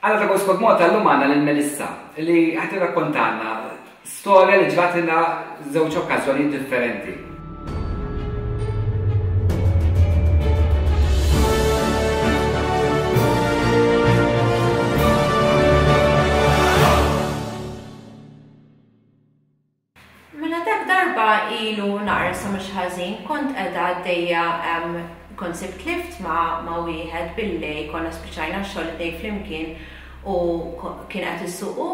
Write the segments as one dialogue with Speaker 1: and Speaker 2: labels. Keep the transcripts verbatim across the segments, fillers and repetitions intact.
Speaker 1: Għala ta' Ghost Squad Malta llum għandna lil Melissa li ħa tirrakkontalna storja li ġratilha żewġ okkażjonijiet differenti.
Speaker 2: Mela dak darba ilu naqra sa mhux ħażin kont qiegħda għaddejja kont sibt lift ma' ma' wieħed billejl konna spiċċajna x-xogħol it-tnejn flimkien u kien qed isuq hu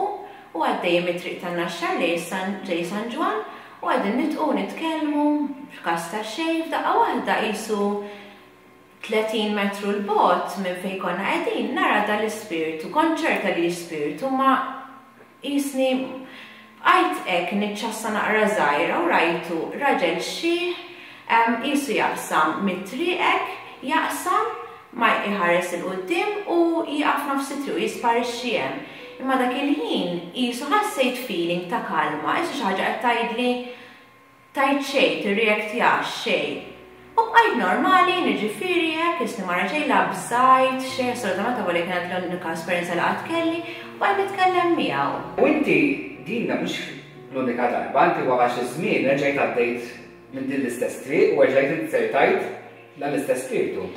Speaker 2: u għaddejja mit-triq tan-Naxxar lejn San Ġwann u qegħdin nitqu nitkellmu f'każ ta' xejn f'daqqa waħda qisu tletin metru 'l bogħod minn fejn konna qegħdin nara dal-ispirtu kont ċerta li ispirtu ma qisni bqajt hekk niċċassa naqra żgħira u rajtu raġel xiħ qisu jaqsam mit-triq hekk, jaqsam ma jħares 'il quddiem u jieqaf nofs it-triq u jisparixxi hemm. Imma dak il-ħin qisu ħassejt feeling ta' kalma, qisu xi ħaġa qed tgħidli tgħid xejn, tirreactjax xejn. U bqajt normali, niġifieri hekk, qisni ma ra xejn, la bżajt xejn, assolutament avolja kienet l-unika esperjenza li qatt kelli, u bqajt nitkellem miegħu.
Speaker 1: U inti din mhux l-unika darba, inti wara xi żmien erġajt għaddejt minn din l-istess triq u erġajt inzertajt dan l-istess spirtu.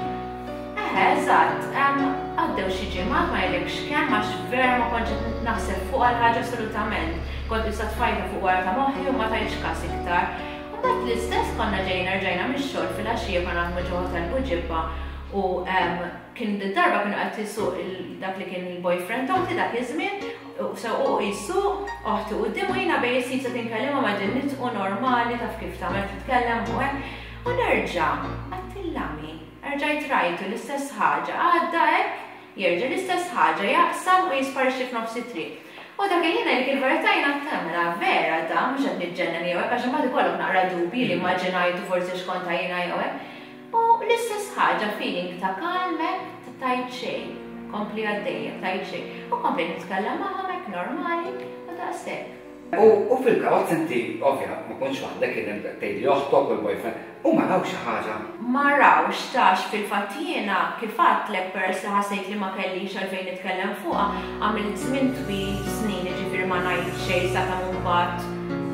Speaker 2: Eħe, eżatt, għaddew xi ġimgħat ma ngħidlekx kemm għax vera ma kontx qed naħseb fuqha l-ħaġa assolutament. Kont issa tfajtha fuq wara ta' moħħi u ma tajtx każ iktar. U mbagħad l-istess konna ġejna rġajna mix-xogħol filgħaxija konna naħdmu ġo hotel Buġibba u kien darba kienu qed isuq dak li kien il-boyfriend oħti dak iż-żmien u sewqu jsuq oħti quddiem u jiena bejn is-seats qed inkellimha ma qegħdin nitqu normali taf kif tagħmel titkellem u hekk u nerġa' għattillami. Erġajt rajtu l-istess ħaġa, għadda hekk, jerġa' l-istess ħaġa, jaqsam u jisparixxi f'nofs it-triq. U dak il-ħin ngħidlek il-verità jiena mela vera da mhux qed niġġennen jew hekk għax imbagħad ikollok naqra dubji li immaġinajtu forsi x'kont jiena jew hekk. U l-istess ħaġa feeling ta' kalm hekk tgħid xejn, kompli għaddejja, tgħid xejn. U komplejt nitkellem magħhom hekk normali u daqshekk.
Speaker 1: U fil-karozza inti, ovvja, ma kontx waħdek, kien hemm tgħidli oħtok u l-boyfriend, u ma rawx xi ħaġa?
Speaker 2: Ma rawx, tax fil-fatt jiena kif għedtlek peress li ħassejt li ma kellix għalfejn nitkellem fuqha, għamilt żmien twil, snin, jiġifieri ma ngħid xejn sakemm imbagħad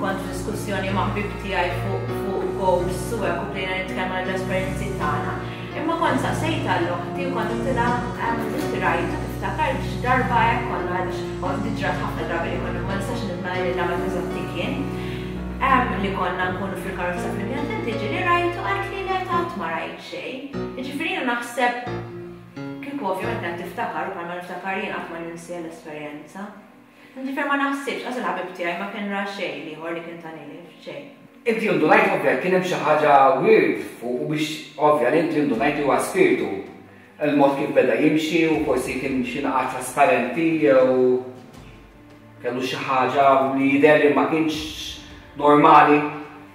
Speaker 2: kont f'diskussjoni ma' ħbieb tiegħi fuq fuq ghosts u hekk u bdejna nitkellmu għall-esperjenzi tagħna. Imma kont saqsejt għal oħti u kont għedtilha inti rajtu tiftakar x'darba hekk konna għaliex oħti ġrat ħafna drabi li konna ma nistax nitmela lil meta eżatti kien. Li konna nkunu fil-karozza flimkien, inti ġieli rajtu qaltli le qatt ma rajt xejn. Jiġifieri jiena naħseb kieku ovvjament qed tiftakar u bħalma niftakar jien qatt ma ninsi l-esperjenza. Jiġifieri ma naħsibx, qas il-ħabib tiegħi ma kien ra xejn ieħor li kien tani lift, xejn.
Speaker 1: Inti indunajt ovvja kien hemm xi ħaġa weird fuq u biex ovvja li inti indunajt li huwa spiritu. Il-mod kif beda jimxi u forsi kien xi naqa trasparenti jew kellu xi ħaġa li jidher li ma kienx normali.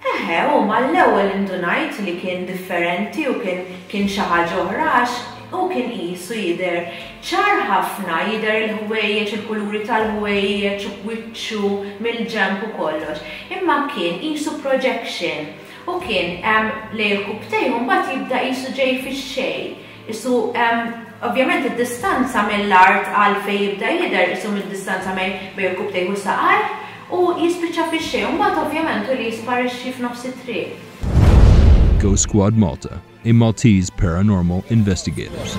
Speaker 2: Eħe, u mal-ewwel indunajt li kien differenti u kien kien xi ħaġa oħra għax u kien qisu jidher ċar ħafna, jidher il-ħwejjeġ, il-kuluri tal-ħwejjeġ, u wiċċu mill-ġenb u kollox. Imma kien qisu projection u kien lejn il-kubtejn u mbagħad jibda qisu ġej fix-xejn. Isu ovvjament id-distanza mill-art għal fejn jibda jidher isu mid-distanza bejn il-kubtejn u saqajh u jispiċċa fix-xejn u mbagħad ovvjament hu li jisparixxi f'nofs it-triq.
Speaker 3: Ghost Squad Malta, a Maltese paranormal investigators.